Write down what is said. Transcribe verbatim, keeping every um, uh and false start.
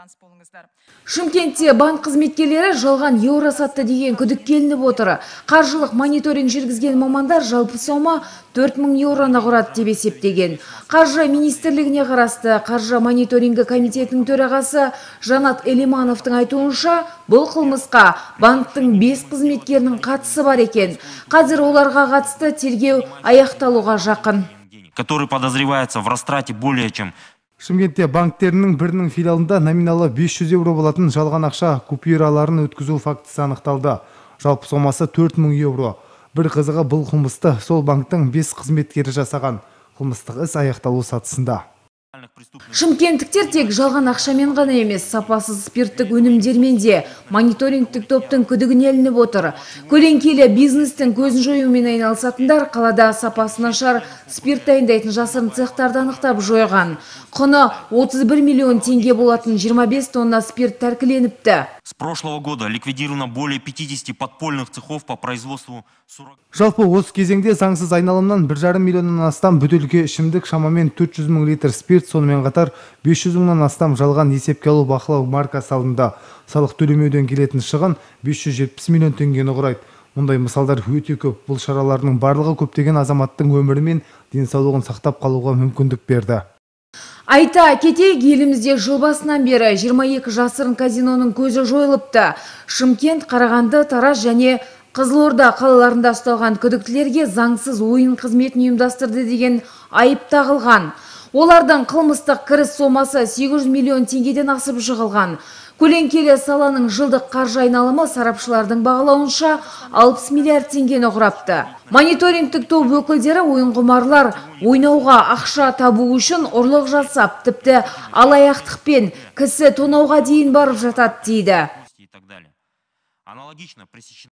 таныс болыңыздар. Шымкентте банк қызметкерлері жалған еуро сатты деген күдікке ілініп отыр. Қаржылық мониторинг жүргізген мамандар жалпы сома төрт мың еуроны құрады деп есептеген. Қаржы министрлігіне қарасты қаржы мониторингі комитетінің төрағасы Жанат Элимановтың айтуынша, бұл қылмысқа банктың бес қызметкерінің қатысы бар екен. Қазір оларға қатысты тергеу аяқталуға жақын. Который подозревается в растрате более чем. Шымкентте банктерінің бірінің филиалында номиналы бес жүз еуро болатын жалған ақша купюраларын өткізу фактісі анықталды. Жалпы сомасы төрт мың еуро. Бір қызығы, бұл қылмысты сол банктың бес қызметкері жасаған. Қылмыстық іс аяқталу сатысында. Шымкенттіктер тек жалған ақшамен ғана емес, сапасыз спирттік өнімдермен де мониторингтік топтың күдігіне ілініп отыр. Көлеңкелі бизнестің көзін жоюмен айналысатындар қалада сапасы нашар спирт дайындайтын жасырын цехтарды анықтап жойған. Құны отыз бір миллион теңге болатын жиырма бес тонна спирт тәркіленіпті. С прошлого года ликвидировано более пятидесяти подпольных цехов по производству. Жалпы осы кезеңде заңсыз айналымнан бір жарым миллионнан астам бөтелке ішімдік, шамамен төрт жүз мың литр спирт, сонымен қатар бес жүз мыңнан астам жалған есепке алу бақылау марка салынды. Салық төлемеуден келетін шығын бес жүз жетпіс миллион теңгені құрайды. Мұндай мысалдар өте көп. Бұл шаралардың барлығы көптеген азаматтың өмірі мен денсаулығын сақтап қалуға мүмкіндік берді. Айта кетейік, елімізде жыл басынан бері жиырма екі жасырын казиноның көзі жойылыпты. Шымкент, Қарағанды, Тараз және Қызылорда қалаларында ұсталған күдіктілерге заңсыз ойын қызметін ұйымдастырды деген айып тағылған. Олардың қылмыстық кіріс сомасы сегіз жүз миллион теңгеден асып жығылған. Көлеңкелі саланың жылдық қаржы айналымы сарапшылардың бағалауынша алпыс миллиард теңгені құрапты. Мониторингтік топ өкілдері ойынқұмарлар ойнауға ақша табу үшін ұрлық жасап, тіпті алаяқтықпен кісі тонауға дейін барып жатады дейді. Аналогично пресечено.